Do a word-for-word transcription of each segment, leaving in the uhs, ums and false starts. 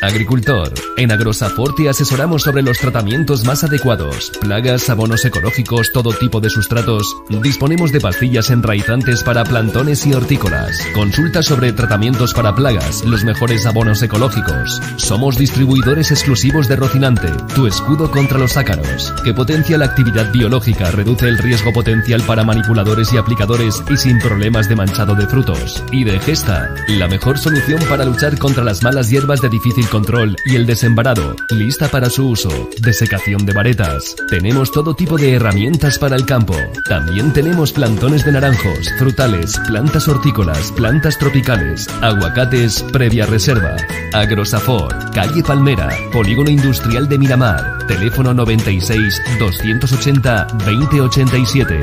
Agricultor. En Agrosafor te asesoramos sobre los tratamientos más adecuados. Plagas, abonos ecológicos, todo tipo de sustratos. Disponemos de pastillas enraizantes para plantones y hortícolas. Consulta sobre tratamientos para plagas, los mejores abonos ecológicos. Somos distribuidores exclusivos de Rocinante, tu escudo contra los ácaros, que potencia la actividad biológica, reduce el riesgo potencial para manipuladores y aplicadores y sin problemas de manchado de frutos. Y de Gesta, la mejor solución para luchar contra las malas hierbas de difícil control y el desembarado, lista para su uso. Desecación de varetas. Tenemos todo tipo de herramientas para el campo. También tenemos plantones de naranjos, frutales, plantas hortícolas, plantas tropicales, aguacates previa reserva. Agrosafor, calle Palmera, Polígono Industrial de Miramar. Teléfono noventa y seis, doscientos ochenta, veinte ochenta y siete.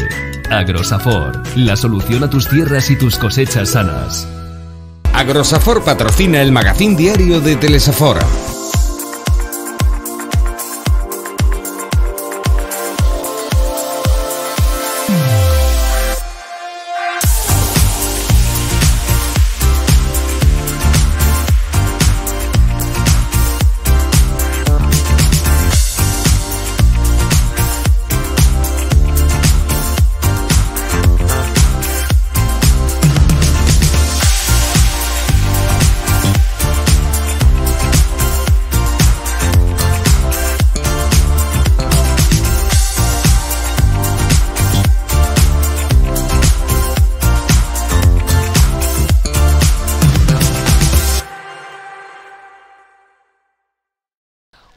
Agrosafor, la solución a tus tierras y tus cosechas sanas. Agrosafor patrocina el magazín diario de Telesafor.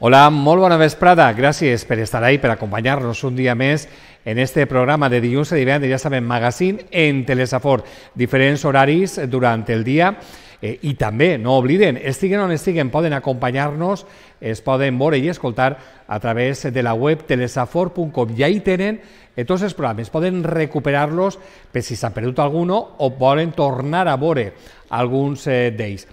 Hola, molt bona vesprada. Gràcies per estar ahí, per acompanyar-nos un dia més en este programa de dilluns a divendres, ja sabem, magazine en Telesafor. Diferents horaris durant el dia eh, i també, no obliden, estiguen on estiguen, poden acompanyar-nos, es poden veure i escoltar a través de la web telesafor punt com. I ahí tenen eh, tots els programes, poden recuperar-los per si s'han perdut alguno o volen tornar a veure alguns eh, d'ells.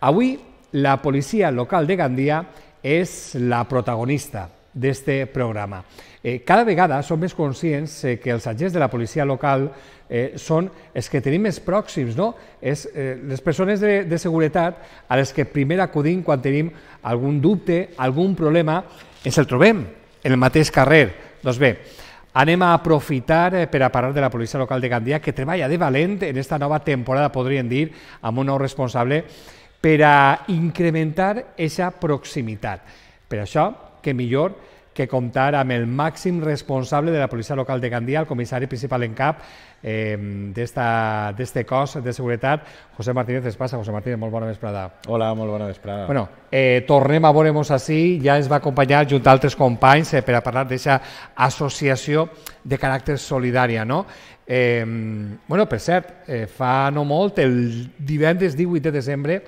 Avui, la policia local de Gandia és la protagonista d'este programa. Eh, cada vegada som més conscients eh, que els agents de la policia local eh, són els que tenim més pròxims, no? És eh, les persones de, de seguretat a les que primer acudim quan tenim algun dubte, algun problema, ens el trobem en el mateix carrer. Doncs bé, anem a aprofitar eh, per a parlar de la policia local de Gandia, que treballa de valent en esta nova temporada, podríem dir, amb un nou responsable, per a incrementar aquesta proximitat. Per això, que millor que comptar amb el màxim responsable de la policia local de Gandia, el comissari principal en cap eh, d'este cos de seguretat, José Martínez. Es passa, José Martínez, molt bona vesprada. Hola, molt bona vesprada. Bueno, eh, tornem a veure'ns així, ja ens va acompanyar junt a altres companys eh, per a parlar d'aquesta associació de caràcter solidària, no? Eh, bueno, per cert, eh, fa no molt, el divendres divuit de desembre,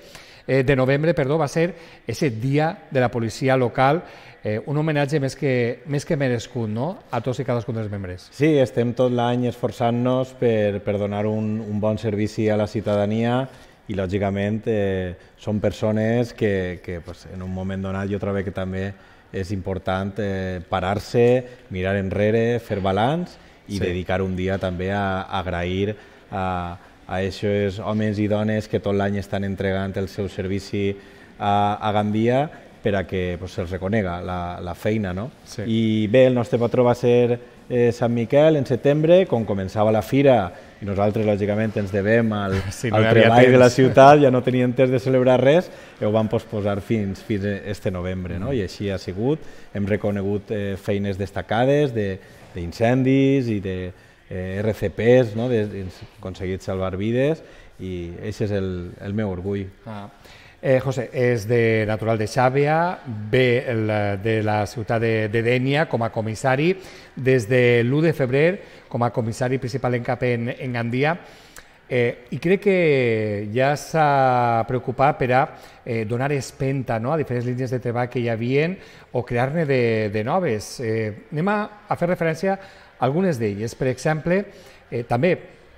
eh, de novembre, perdó, va ser aquest dia de la policia local, eh, un homenatge més que, més que merescut, no?, a tots i cadascun dels membres. Sí, estem tot l'any esforçant-nos per, per donar un, un bon servici a la ciutadania i, lògicament, eh, són persones que, que pues, en un moment donat jo trobo que també és important eh, parar-se, mirar enrere, fer balanç i sí. dedicar un dia també a, a agrair a, a aquests homes i dones que tot l'any estan entregant el seu servici a, a Gandia per a que pues, se'ls reconega la, la feina, no? Sí. I bé, el nostre patró va ser eh, Sant Miquel en setembre, quan començava la fira, i nosaltres, lògicament, ens devem al, sí, no al treball de la ciutat, ja no tenien temps de celebrar res, i ho vam posposar fins, fins este novembre, no? I així ha sigut. Hem reconegut eh, feines destacades d'incendis i de eh, R C Ps, no? de, de aconseguit salvar vides, i aquest és el, el meu orgull. Ah. Eh, José, és de natural de Xàbia, ve el, de la ciutat de, de Dénia com a comissari, des de l'u de febrer com a comissari principal en cap en, en Gandia, eh, i crec que ja s'ha preocupat per a eh, donar espenta, no?, a diferents línies de treball que hi havien o crear-ne de, de noves. Eh, anem a, a fer referència a algunes d'elles. Per exemple, eh, també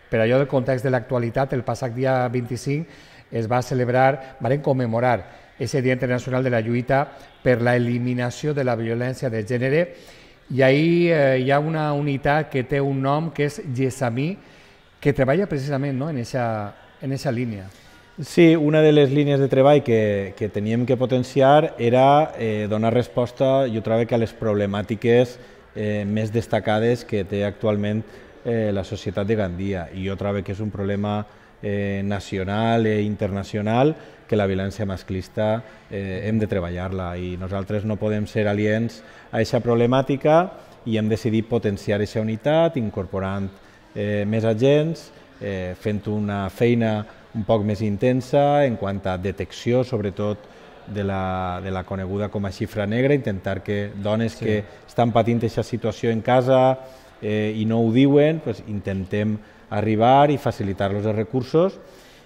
per allò del context de l'actualitat, el passat dia vint-i-cinc es va celebrar, van commemorar aquest Dia Internacional de la Lluita per la eliminació de la violència de gènere, i ahir eh, hi ha una unitat que té un nom que és Gessamí, que treballa precisament, no?, en aquesta en línia. Sí, una de les línies de treball que, que teníem que potenciar era eh, donar resposta, jo trobo que a les problemàtiques eh, més destacades que té actualment eh, la societat de Gandia. I jo trobo que és un problema eh, nacional i internacional que la violència masclista eh, hem de treballar-la i nosaltres no podem ser aliens a aquesta problemàtica i hem decidit potenciar aquesta unitat incorporant eh, més agents, eh, fent una feina un poc més intensa en quant a detecció, sobretot de la, de la coneguda com a xifra negra, intentar que dones sí. que estan patint aquesta situació en casa eh, i no ho diuen, pues, intentem arribar i facilitar-los els recursos.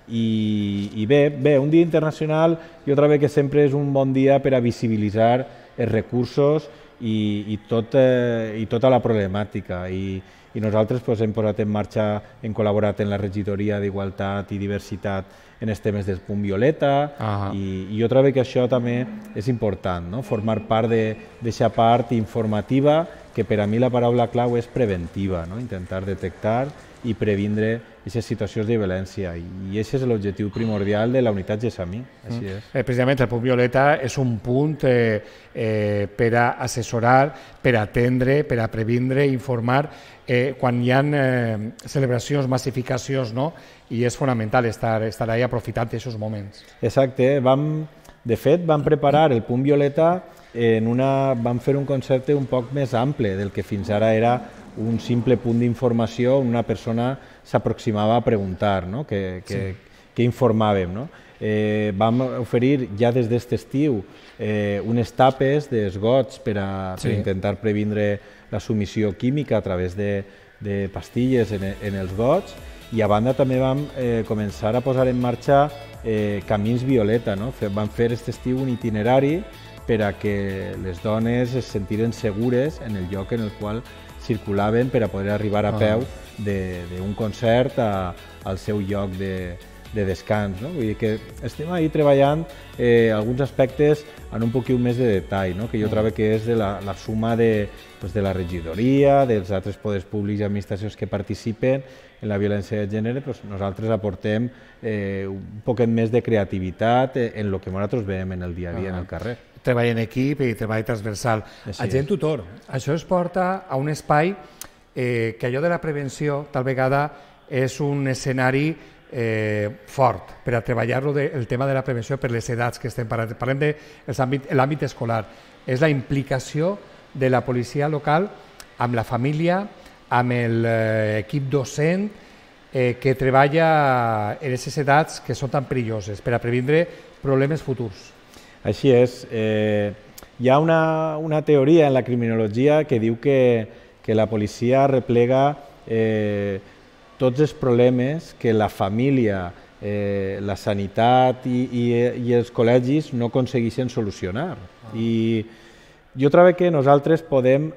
I, i bé, bé, un dia internacional jo trobo que sempre és un bon dia per a visibilitzar els recursos i, i, tot, eh, i tota la problemàtica. I, i nosaltres pues, hem posat en marxa, hem col·laborat en la regidoria d'Igualtat i Diversitat en els temes del punt violeta uh-huh. i, i jo trobo que això també és important, no? Formar part d'aquesta part informativa que per a mi la paraula clau és preventiva, no? Intentar detectar i previndre aquestes situacions de violència i aquest és l'objectiu primordial de la unitat Gessamí. Així és. Mm. Eh, precisament el punt violeta és un punt eh, eh, per a assessorar, per a atendre, per a previndre, informar eh, quan hi ha eh, celebracions, massificacions, no? I és fonamental estar, estar ahí aprofitant aquests moments. Exacte. Vam, de fet, vam preparar el punt violeta en una, vam fer un concepte un poc més ample del que fins ara era un simple punt d'informació on una persona s'aproximava a preguntar, no? que, que, sí. que informàvem. No? Eh, vam oferir ja des d'aquest estiu eh, unes tapes d'esgots per a sí. per intentar previndre la submissió química a través de, de pastilles en, en els gots i a banda també vam eh, començar a posar en marxa eh, camins violeta. No? Vam fer aquest estiu un itinerari per a que les dones es sentiren segures en el lloc en el qual circulaven per a poder arribar a peu d'un concert a, al seu lloc de, de descans. No? Vull dir que estem ahí treballant eh, alguns aspectes en un poquet més de detall, no? Que jo trobo que és de la, la suma de, pues, de la regidoria, dels altres poders públics i administracions que participen en la violència de gènere, pues, nosaltres aportem eh, un poquet més de creativitat en el que nosaltres veiem en el dia a dia ah. en el carrer. Treball en equip i treball transversal. Agent tutor, això es porta a un espai eh, que allò de la prevenció tal vegada és un escenari eh, fort per a treballar-lo el tema de la prevenció per les edats que estem parlant. Parlem de l'àmbit escolar. És la implicació de la policia local amb la família, amb l'equip docent eh, que treballa en aquestes edats que són tan perilloses per a previndre problemes futurs. Així és. Eh, hi ha una, una teoria en la criminologia que diu que, que la policia replega eh, tots els problemes que la família, eh, la sanitat i, i, i els col·legis no aconsegueixen solucionar. Ah. I jo trobo que nosaltres podem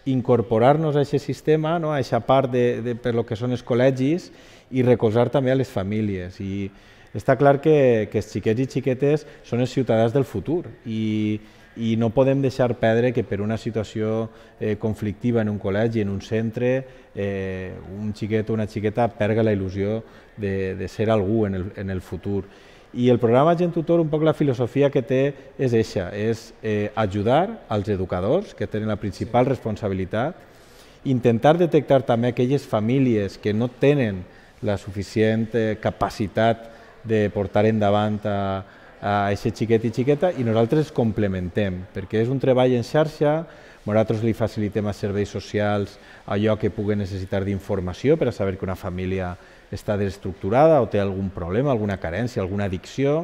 incorporar-nos a aquest sistema, no? A aquesta part de, de, per lo que són els col·legis i recolzar també a les famílies. I, està clar que, que els xiquets i xiquetes són els ciutadans del futur i, i no podem deixar perdre que per una situació eh, conflictiva en un col·legi, en un centre, eh, un xiquet o una xiqueta perga la il·lusió de, de ser algú en el, en el futur. I el programa Agent Tutor, un poc la filosofia que té és eixa, és eh, ajudar als educadors, que tenen la principal responsabilitat, intentar detectar també aquelles famílies que no tenen la suficient eh, capacitat de portar endavant a, a aquest xiquet i xiqueta i nosaltres complementem, perquè és un treball en xarxa, nosaltres li facilitem als serveis socials allò que puguen necessitar d'informació per a saber que una família està desestructurada o té algun problema, alguna carència, alguna addicció,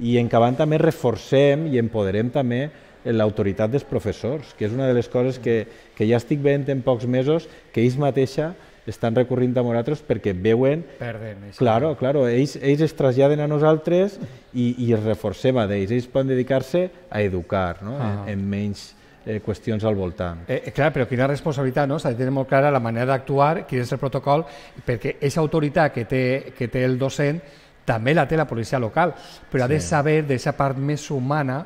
i en acabant també reforcem i empoderem també l'autoritat dels professors, que és una de les coses que, que ja estic veient en pocs mesos, que ells mateixa estan recorrint a nosaltres perquè veuen... Perden. Claro, claro, ells, ells es traslladen a nosaltres i, i es reforcem a ells. Ells poden dedicar-se a educar, no? ah. en, en menys eh, qüestions al voltant. Eh, clar, però quina responsabilitat, no? S'ha de tenir molt clara la manera d'actuar, quin és el protocol, perquè aquesta autoritat que té, que té el docent també la té la policia local, però sí. ha de saber d'aquesta part més humana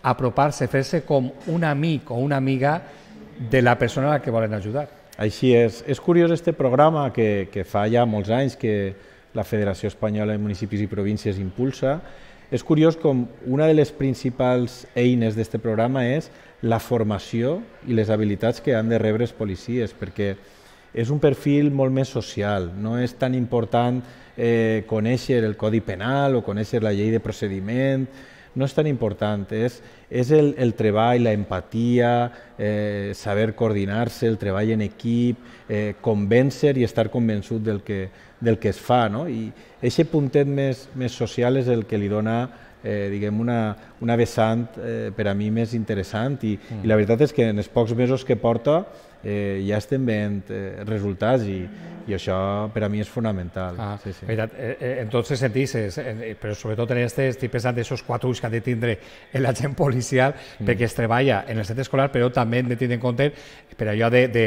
apropar-se, fer-se com un amic o una amiga de la persona a la que volen ajudar. Així és. És curiós este programa que, que fa ja molts anys que la Federació Espanyola de Municipis i Províncies impulsa. És curiós com una de les principals eines d'aquest programa és la formació i les habilitats que han de rebre els policies, perquè és un perfil molt més social, no és tan important eh, conèixer el Codi Penal o conèixer la llei de procediment, no és tan important, és, és el, el treball, la empatia, eh, saber coordinar-se, el treball en equip, eh, convèncer i estar convençut del que, del que es fa, no? I aquest puntet més, més social és el que li dona eh, diguem una, una vessant eh, per a mi més interessant i, mm. i la veritat és que en els pocs mesos que porta eh, ja estem veient eh, resultats i, i això per a mi és fonamental. Ah, sí, sí. Veritat, eh, en tots els sentits, eh, però sobretot en aquest estic pensant d'aixòs quatre ulls que ha de tindre l'agent policial mm. perquè es treballa en el centre escolar, però també hem de tenir en compte per allò de, de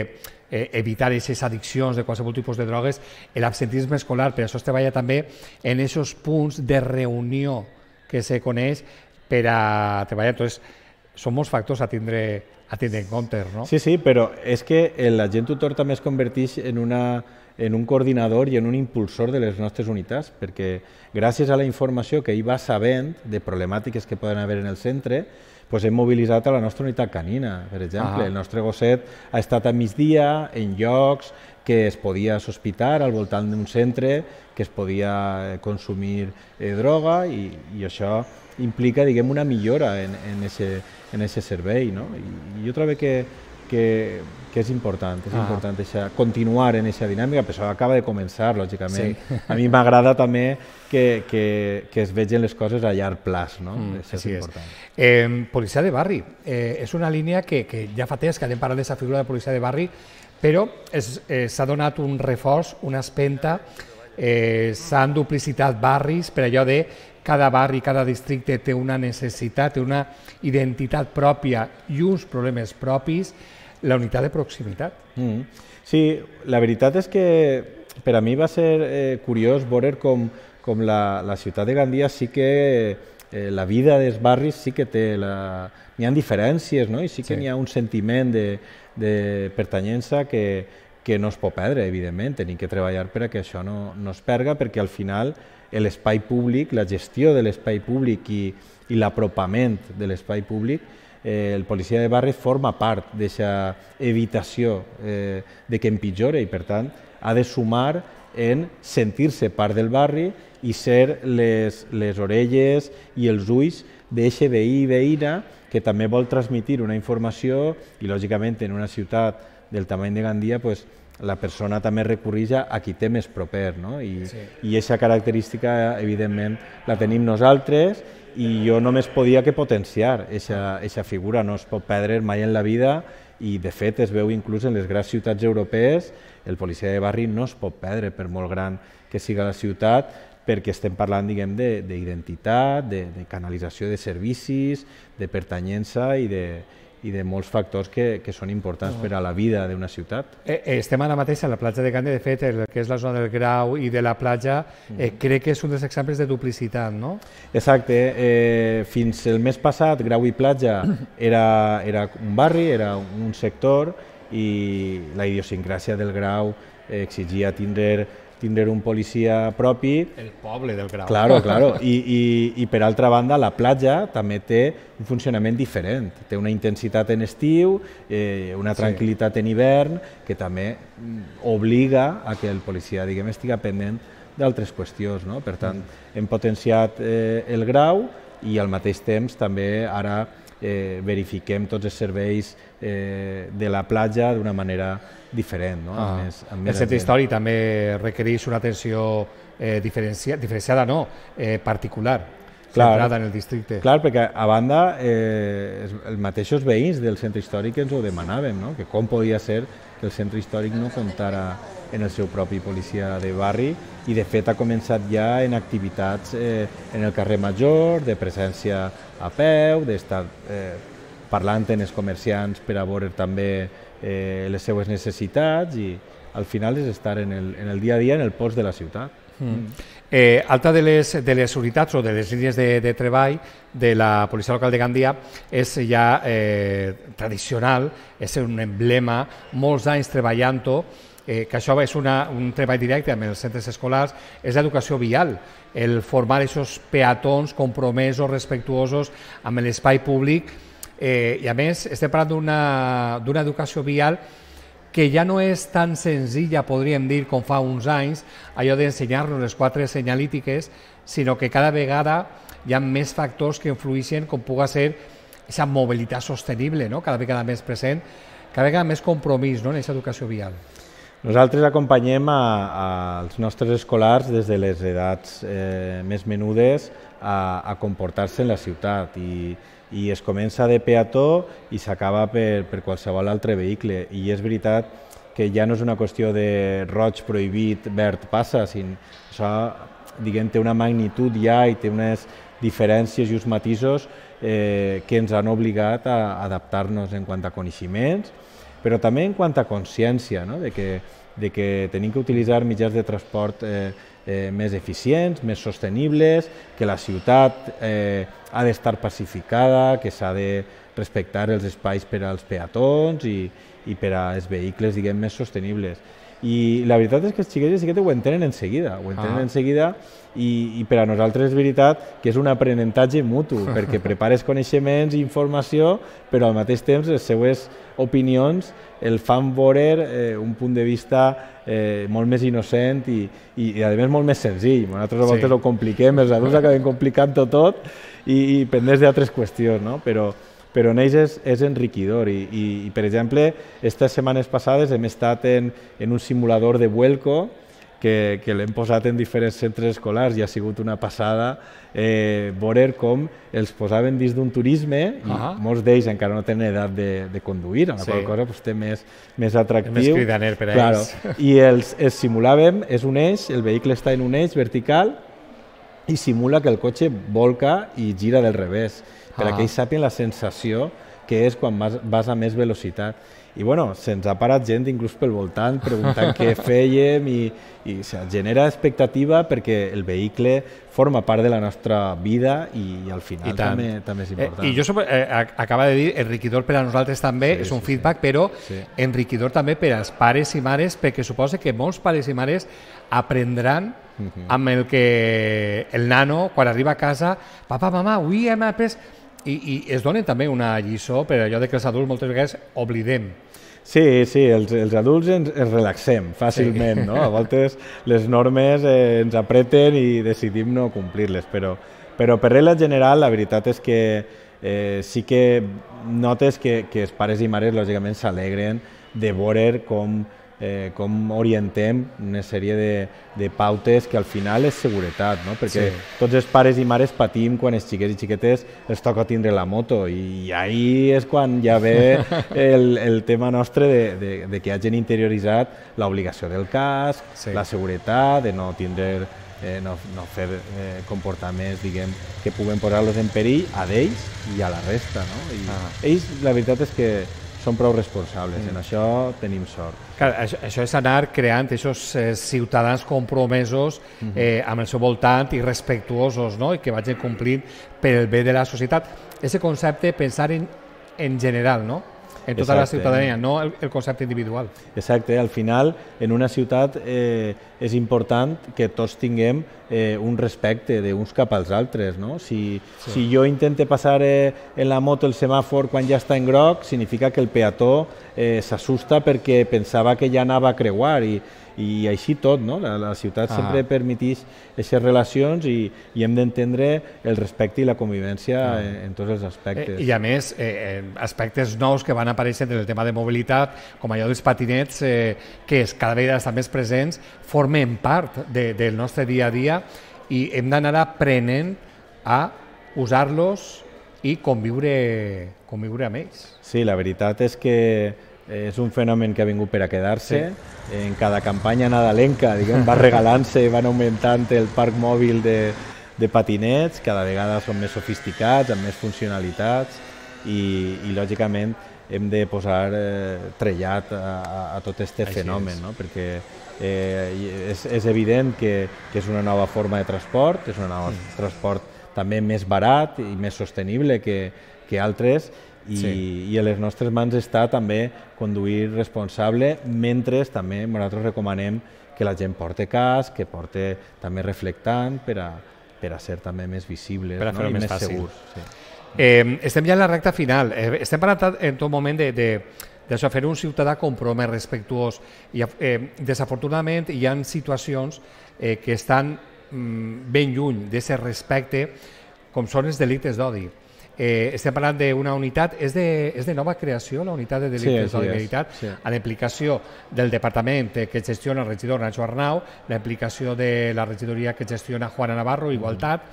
eh, evitar aquestes addiccions de qualsevol tipus de drogues, l'absentisme escolar, per això es treballa també en aquests punts de reunió que se coneix per a treballar. Entonces, són molts factors a tindre, a tindre en compte, no? Sí, sí, però és que l'agent tutor també es converteix en, una, en un coordinador i en un impulsor de les nostres unitats, perquè gràcies a la informació que ell va sabent de problemàtiques que poden haver en el centre, pues hem mobilitzat a la nostra unitat canina, per exemple. Ah. El nostre gosset ha estat a migdia en llocs que es podia sospitar al voltant d'un centre, que es podia consumir eh, droga i, i això implica, diguem, una millora en, en, ese, en ese servei, no? I, i jo trobo que, que, que és important, és ah. important eixa, continuar en aquesta dinàmica, però això acaba de començar, lògicament. Sí. A mi m'agrada també que, que, que es vegin les coses a llarg plaç, no? Mm, això és important. És. Eh, policia de barri, eh, és una línia que, que ja fa temps que anem parlant d'aquesta figura de policia de barri, però s'ha eh, donat un reforç, una espenta, eh, s'han duplicitat barris per allò de cada barri, cada districte té una necessitat, té una identitat pròpia i uns problemes propis, la unitat de proximitat. Mm. Sí, la veritat és que per a mi va ser eh, curiós veure com, com la, la ciutat de Gandia sí que eh, la vida dels barris sí que té, la... n'hi ha diferències, no? I sí que sí. N'hi ha un sentiment de, de pertanyença que, que no es pot perdre, evidentment. Tenim que treballar per a que això no, no es perga, perquè al final l'espai públic, la gestió de l'espai públic i, i l'apropament de l'espai públic, eh, el policia de barri forma part d'aquesta evitació eh, de que empitjore i, per tant, ha de sumar en sentir-se part del barri i ser les, les orelles i els ulls d'eixe veí i veïna que també vol transmitir una informació i, lògicament, en una ciutat del tamany de Gandia, pues, la persona també recurreix a qui té més proper, no? I sí. I aquesta característica, evidentment, la tenim nosaltres i jo només podia que potenciar aquesta figura, no es pot perdre mai en la vida i, de fet, es veu inclús en les grans ciutats europees, el policia de barri no es pot perdre per molt gran que siga la ciutat, perquè estem parlant, diguem, d'identitat, de, de, de canalització de servicis, de pertanyença i de, i de molts factors que, que són importants per a la vida d'una ciutat. Eh, estem ara mateix a la platja de Gandia, de fet, el que és la zona del Grau i de la platja, eh, crec que és un dels exemples de duplicitat, no? Exacte. Eh, fins el mes passat, Grau i platja era, era un barri, era un sector, i la idiosincràsia del Grau eh, exigia tindre tindre un policia propi. El poble del Grau. Claro, claro. I, i, i per altra banda, la platja també té un funcionament diferent. Té una intensitat en estiu, eh, una tranquil·litat sí. en hivern, que també obliga a que el policia, diguem, estigui pendent d'altres qüestions, no? Per tant, hem potenciat eh, el Grau i al mateix temps també ara eh, verifiquem tots els serveis eh, de la platja d'una manera diferent. No? Ah. Amb més, amb més el centre històric també requereix una atenció eh, diferenciada, diferenciada no, eh, particular, clar, centrada en el districte. Clar, perquè a banda eh, els mateixos veïns del centre històric ens ho demanàvem, no? Que com podia ser que el centre històric no comptara en el seu propi policia de barri i de fet ha començat ja en activitats eh, en el carrer Major, de presència a peu, d'estar eh, parlant amb els comerciants per a veure també eh, les seues necessitats i al final és estar en el, en el dia a dia en el pols de la ciutat. Mm. Eh, alta de les, de les unitats o de les línies de, de treball de la policia local de Gandia és ja eh, tradicional, és un emblema, molts anys treballant-ho, eh, que això és una, un treball directe amb els centres escolars, és l'educació vial, el formar aquests peatons compromesos, respectuosos amb l'espai públic, eh, i a més estem parlant d'una educació vial que ja no és tan senzilla, podríem dir, com fa uns anys, allò d'ensenyar-nos les quatre senyalítiques, sinó que cada vegada hi ha més factors que influeixen com pugui ser aquesta mobilitat sostenible, no? Cada vegada més present, cada vegada més compromís, no? En aquesta educació vial. Nosaltres acompanyem a, a, als nostres escolars des de les edats eh, més menudes a, a comportar-se en la ciutat i, i es comença de peató i s'acaba per, per qualsevol altre vehicle. I és veritat que ja no és una qüestió de roig prohibit, verd passa, sinó això diguem, té una magnitud ja i té unes diferències i uns matisos eh, que ens han obligat a adaptar-nos en quant a coneixements, però també en quant a consciència, no? de, que, de que tenim que utilitzar mitjans de transport eh, eh, més eficients, més sostenibles, que la ciutat eh, ha d'estar pacificada, que s'ha de respectar els espais per als peatons i, i per als vehicles, diguem, més sostenibles. I la veritat és que els xiquets i xiquetes ho entenen en seguida, ho entenen ah. en seguida i, i per a nosaltres és veritat que és un aprenentatge mutu, perquè prepares coneixements i informació, però al mateix temps les seues opinions el fan veure eh, un punt de vista eh, molt més innocent i, i, i a més molt més senzill. Nosaltres a vegades sí. ho compliquem, els adults acabem complicant-ho tot i, i pendents d'altres qüestions, no? Però però en ells és, és enriquidor i, i, i, per exemple, aquestes setmanes passades hem estat en, en un simulador de Vuelco que, que l'hem posat en diferents centres escolars i ha sigut una passada eh, veure com els posaven dins d'un turisme i uh -huh. molts d'ells encara no tenen edat de, de conduir, amb la sí. qual cosa pues, té més, més atractiu. És més cridaner per a claro. ells. I els, els simulàvem, és un eix, el vehicle està en un eix vertical i simula que el cotxe volca i gira del revés, per ah. que ells sàpien la sensació que és quan vas, vas a més velocitat. I bueno, se'ns ha parat gent inclús pel voltant preguntant què fèiem i, i o sigui, genera expectativa perquè el vehicle forma part de la nostra vida i, i al final I també, també és important. Eh, I jo som, eh, acaba de dir, enriquidor per a nosaltres també, sí, és un sí, feedback, sí. però sí. enriquidor també per als pares i mares, perquè suposa que molts pares i mares aprendran uh-huh. amb el que el nano, quan arriba a casa, papa, mama, avui hem après... I, i es donen també una lliçó per allò de que els adults moltes vegades oblidem. Sí, sí, els, els adults ens, ens relaxem fàcilment, sí. no? A voltes les normes eh, ens apreten i decidim no complir-les, però, però per regla general la veritat és que eh, sí que notes que, que els pares i mares lògicament s'alegren de veure com Eh, com orientem una sèrie de, de pautes que al final és seguretat, no? Perquè sí. tots els pares i mares patim quan els xiquets i xiquetes els toca tindre la moto i ahí és quan ja ve el, el tema nostre de, de, de que hagin interioritzat l'obligació del casc, sí. la seguretat, de no tindre eh, no, no fer eh, comportaments diguem, que puguen posar-los en perill a d'ells i a la resta, no? I ah. ells la veritat és que són prou responsables, mm. en això tenim sort. Clar, això, això és anar creant aquests eh, ciutadans compromesos mm-hmm. eh, amb el seu voltant i respectuosos, no? I que vagin complint per el bé de la societat. Aquest concepte, pensar en, en general, no? En tota Exacte. la ciutadania, no el, el concepte individual. Exacte, al final en una ciutat eh, és important que tots tinguem eh, un respecte d'uns cap als altres, no? Si, sí. si jo intente passar eh, en la moto el semàfor quan ja està en groc, significa que el peató eh, s'assusta perquè pensava que ja anava a creuar i, i així tot, no? La, la ciutat ah. sempre permeteix aquestes relacions i, i hem d'entendre el respecte i la convivència ah. en, en tots els aspectes. Eh, I a més, eh, aspectes nous que van aparèixer en el tema de mobilitat, com allò dels patinets, eh, que és, cada vegada estan més presents, formen part de, del nostre dia a dia i hem d'anar aprenent a usar-los i conviure, conviure amb ells. Sí, la veritat és que és un fenomen que ha vingut per a quedar-se. Sí. En cada campanya nadalenca diguem, va regalant-se, van augmentant el parc mòbil de, de patinets, cada vegada són més sofisticats, amb més funcionalitats i, i lògicament hem de posar eh, trellat a, a tot aquest fenomen, no? Perquè eh, és, és evident que, que és una nova forma de transport, és un nou mm. transport també més barat i més sostenible que, que altres i, Sí. i a les nostres mans està també conduir responsable, mentre també nosaltres recomanem que la gent porte casc, que porte també reflectant per a, per a ser també més visibles, Per a no? fer-ho I més més fàcil. segurs. Sí. Eh, estem ja en la recta final. Eh, estem parlant en tot moment de, de, d'això, fer un ciutadà compromès, respectuós. I, eh, desafortunadament hi ha situacions eh, que estan mm, ben lluny d'aquest respecte, com són els delictes d'odi. Eh, estem parlant d'una unitat, és de, és de nova creació, la unitat de delictes Sí, d'odi, sí, és, veritat, sí. a la implicació del departament que gestiona el regidor Nacho Arnau, la implicació de la regidoria que gestiona Juana Navarro, Igualtat.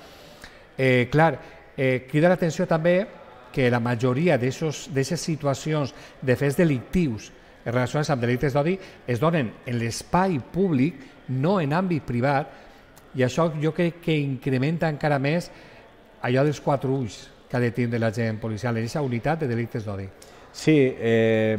Eh, clar, eh, crida l'atenció també que la majoria d'aquestes situacions de fets delictius relacionats amb delictes d'odi es donen en l'espai públic, no en àmbit privat, i això jo crec que incrementa encara més allò dels quatre ulls que ha de tindre l'agent policial en aquesta unitat de delictes d'odi. Sí, eh,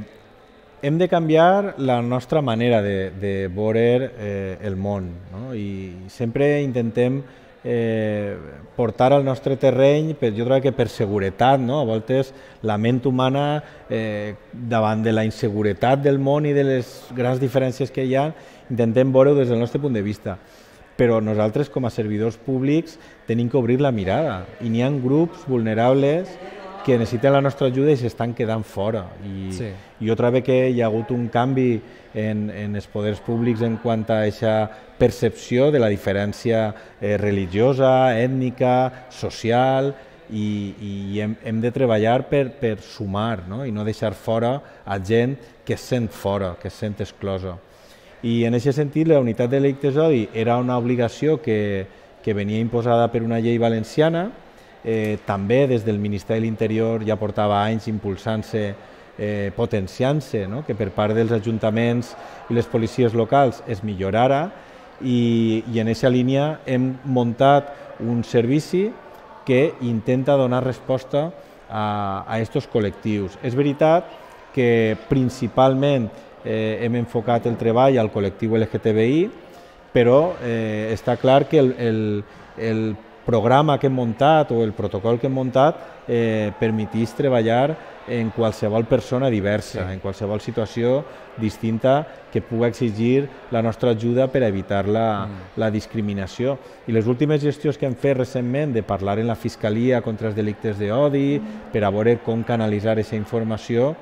hem de canviar la nostra manera de, de veure eh, el món, no? I sempre intentem eh, portar al nostre terreny, per, jo crec que per seguretat, no? A voltes la ment humana, eh, davant de la inseguretat del món i de les grans diferències que hi ha, intentem veure-ho des del nostre punt de vista. Però nosaltres, com a servidors públics, tenim que obrir la mirada. I n'hi ha grups vulnerables que necessiten la nostra ajuda i s'estan quedant fora. I, Sí. I jo trobo que hi ha hagut un canvi en, en els poders públics en quant a aquesta percepció de la diferència eh, religiosa, ètnica, social, i, i hem, hem de treballar per, per sumar, no? I no deixar fora a gent que es sent fora, que es sent exclosa. I en aquest sentit la unitat de delictes d'odi era una obligació que, que venia imposada per una llei valenciana, eh, també des del Ministeri de l'Interior ja portava anys impulsant-se, eh, potenciant-se, no? Que per part dels ajuntaments i les policies locals es millorara, i, i en aquesta línia hem muntat un servici que intenta donar resposta a aquests col·lectius. És veritat que principalment Eh, hem enfocat el treball al col·lectiu L G T B I, però eh, està clar que el, el, el programa que hem muntat o el protocol que hem muntat eh, permetís treballar en qualsevol persona diversa, sí. En qualsevol situació distinta que pugui exigir la nostra ajuda per evitar la, mm. la discriminació. I les últimes gestions que hem fet recentment de parlar en la Fiscalia contra els delictes d'odi, per a veure com canalitzar aquesta informació,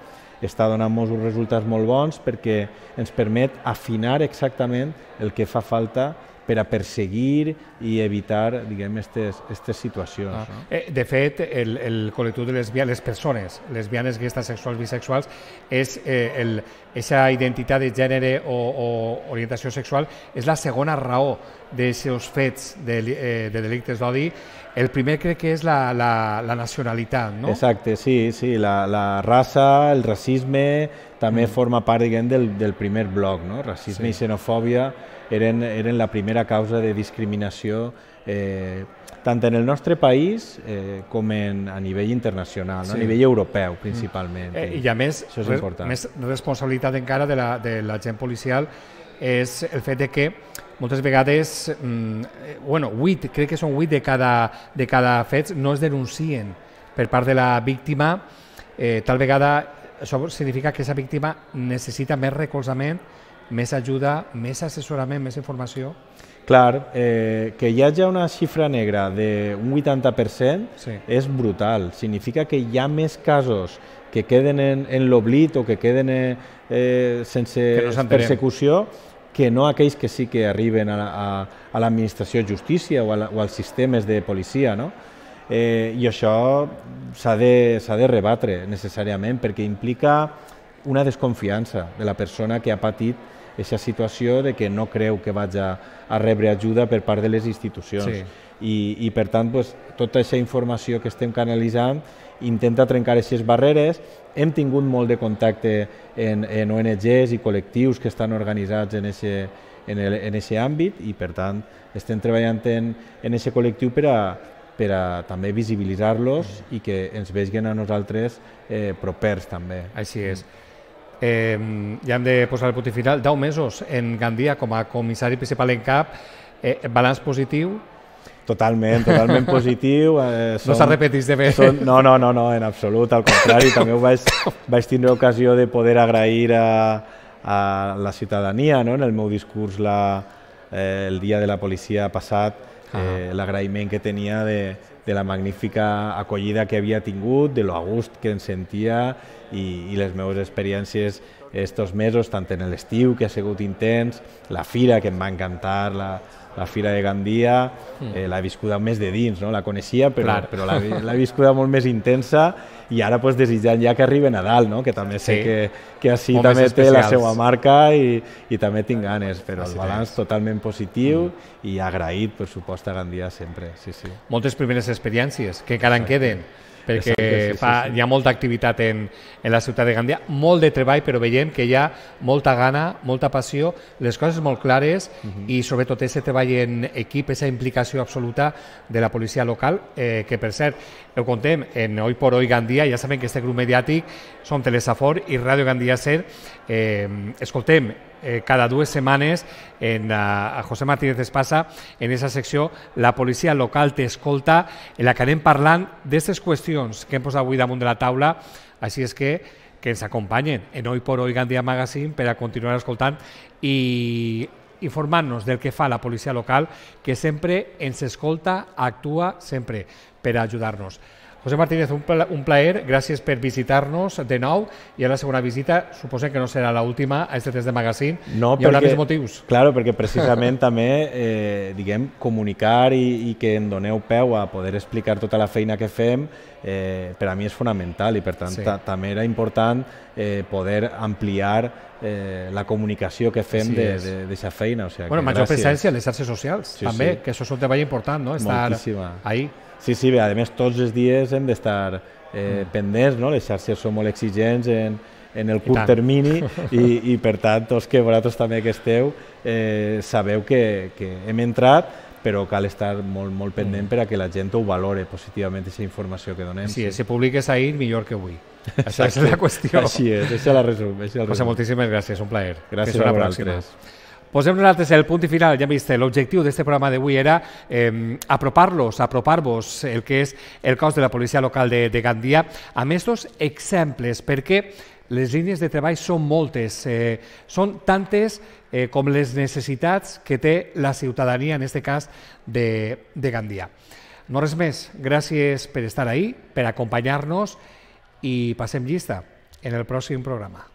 està donant-nos uns resultats molt bons perquè ens permet afinar exactament el que fa falta per a perseguir i evitar, diguem, aquestes situacions. Ah. No? Eh, de fet, el, el col·lectiu de lesbianes, les persones lesbianes, gays, transexuals, bisexuals, és eh, el, esa identitat de gènere o, o orientació sexual és la segona raó d'aquests fets de, eh, de delictes d'odi. El primer crec que és la, la, la nacionalitat, no? Exacte, sí, sí, la, la raça, el racisme també mm. forma part, diguem, del, del primer bloc, no? Racisme sí. I xenofòbia eren, eren la primera causa de discriminació eh, tant en el nostre país eh, com en, a nivell internacional, no? Sí. A nivell europeu principalment. Eh, I a més, això és important. Més responsabilitat encara de la, de l'agent policial és el fet de que moltes vegades, mm, bueno, vuit, crec que són vuit de cada, de cada fet no es denuncien per part de la víctima. Eh, tal vegada això significa que aquesta víctima necessita més recolzament, més ajuda, més assessorament, més informació. Clar, eh, que hi hagi una xifra negra d'un vuitanta per cent sí. És brutal. Significa que hi ha més casos que queden en, en l'oblit o que queden eh, sense que no persecució que no aquells que sí que arriben a, a, a l'administració de justícia o, a la, o als sistemes de policia, no? Eh, I això s'ha de, s'ha de rebatre necessàriament perquè implica una desconfiança de la persona que ha patit aquesta situació de que no creu que vagi a rebre ajuda per part de les institucions. Sí. I, i per tant, pues, tota aquesta informació que estem canalitzant intenta trencar aquestes barreres. Hem tingut molt de contacte en, en O N Ges i col·lectius que estan organitzats en ese, en el, en ese àmbit i per tant estem treballant en aquest col·lectiu per a, per a també visibilitzar-los i que ens vegin a nosaltres eh, propers també. Així és. Eh, ja hem de posar el punt final. deu mesos en Gandia com a comissari principal en cap, eh, balanç positiu? Totalment, totalment positiu. Eh, som, no s'arrepetís de bé. Som, no, no, no, no, en absolut, al contrari. També ho vaig, vaig tindre ocasió de poder agrair a, a la ciutadania, no? En el meu discurs la, eh, el dia de la policia passat, eh, l'agraïment que tenia de, de la magnífica acollida que havia tingut, de lo a gust que em sentia i, i les meves experiències estos mesos, tant en l'estiu, que ha sigut intens, la fira, que em va encantar, la, la fira de Gandia, eh, l'he viscuda més de dins, no? La coneixia, però, però l'he viscuda molt més intensa i ara pues, desitjant ja que arribi Nadal, no? Que també sé sí. que, que així Moments també especials. Té la seva marca i, i també tinc ganes, però així el balanç és. Totalment positiu mm. i agraït, per supost, a Gandia sempre. Sí, sí. Moltes primeres experiències que encara en queden, perquè Exacte, sí, fa, sí, sí. hi ha molta activitat en, en la ciutat de Gandia, molt de treball, però veiem que hi ha molta gana, molta passió, les coses molt clares uh-huh. i sobretot aquest treball en equip, aquesta implicació absoluta de la policia local, eh, que per cert, ho contem en Hoy por Hoy Gandia, ja saben que este grup mediàtic som Telesafor i Ràdio Gandia Ser, eh, escoltem eh, cada dues setmanes en, a, a José Martínez Espasa en aquesta secció La policia local t'escolta, en la que anem parlant d'aquestes qüestions que hem posat avui damunt de la taula, així és que que ens acompanyen en Hoy por Hoy Gandia Magazine per a continuar escoltant i informant-nos del que fa la policia local, que sempre ens escolta, actua sempre per a ajudar-nos. José Martínez, un, pla un plaer, gràcies per visitar-nos de nou i a la segona visita, suposem que no serà l'última a este test de magazine, no, hi haurà més motius. Claro, perquè precisament també eh, diguem, comunicar i, i que em doneu peu a poder explicar tota la feina que fem, eh, per a mi és fonamental i per tant sí. també era important eh, poder ampliar eh, la comunicació que fem d'aquesta feina. O sigui, bueno, que major gràcies. presència en les xarxes socials, sí, també, sí. que això és un treball important, no? Estar Moltíssima. ahí. Sí, sí, bé, a més tots els dies hem d'estar eh, mm. pendents, no? Les xarxes són molt exigents en, en el curt termini i, i per tant, tots que vosaltres també que esteu, eh, sabeu que, que hem entrat, però cal estar molt, molt pendent mm. per a que la gent ho valore positivament, aquesta informació que donem. Sí, sí. Si publiques ahir, millor que avui. Això és la qüestió. Així és, això és la resum. José, moltíssimes gràcies, un plaer. Gràcies a vosaltres. Posem nosaltres el punt i final, ja hem vist, l'objectiu d'aquest programa d'avui era eh, apropar-los, apropar-vos el que és el cos de la policia local de, de Gandia, amb aquests exemples, perquè les línies de treball són moltes, eh, són tantes eh, com les necessitats que té la ciutadania, en aquest cas, de, de Gandia. No res més, gràcies per estar ahí, per acompanyar-nos i passem llista en el pròxim programa.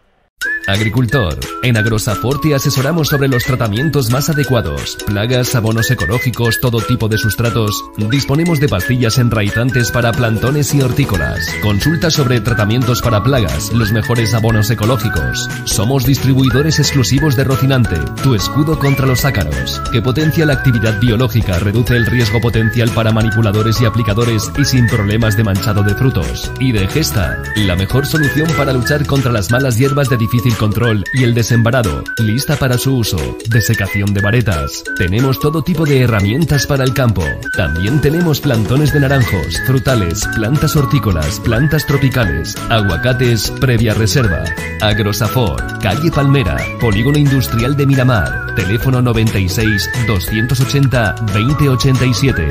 Agricultor. En Agrosafor te asesoramos sobre los tratamientos más adecuados, plagas, abonos ecológicos, todo tipo de sustratos. Disponemos de pastillas enraizantes para plantones y hortícolas. Consulta sobre tratamientos para plagas, los mejores abonos ecológicos. Somos distribuidores exclusivos de Rocinante, tu escudo contra los ácaros, que potencia la actividad biológica, reduce el riesgo potencial para manipuladores y aplicadores y sin problemas de manchado de frutos. Y de Gesta, la mejor solución para luchar contra las malas hierbas de difícil control y el desembarado, lista para su uso, desecación de varetas. Tenemos todo tipo de herramientas para el campo. También tenemos plantones de naranjos, frutales, plantas hortícolas, plantas tropicales, aguacates previa reserva. Agrosafor, calle Palmera, Polígono Industrial de Miramar, teléfono noventa y seis, doscientos ochenta, veinte ochenta y siete.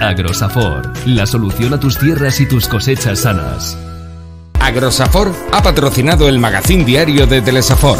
Agrosafor, la solución a tus tierras y tus cosechas sanas. Agrosafor ha patrocinado el magazín diario de Telesafor.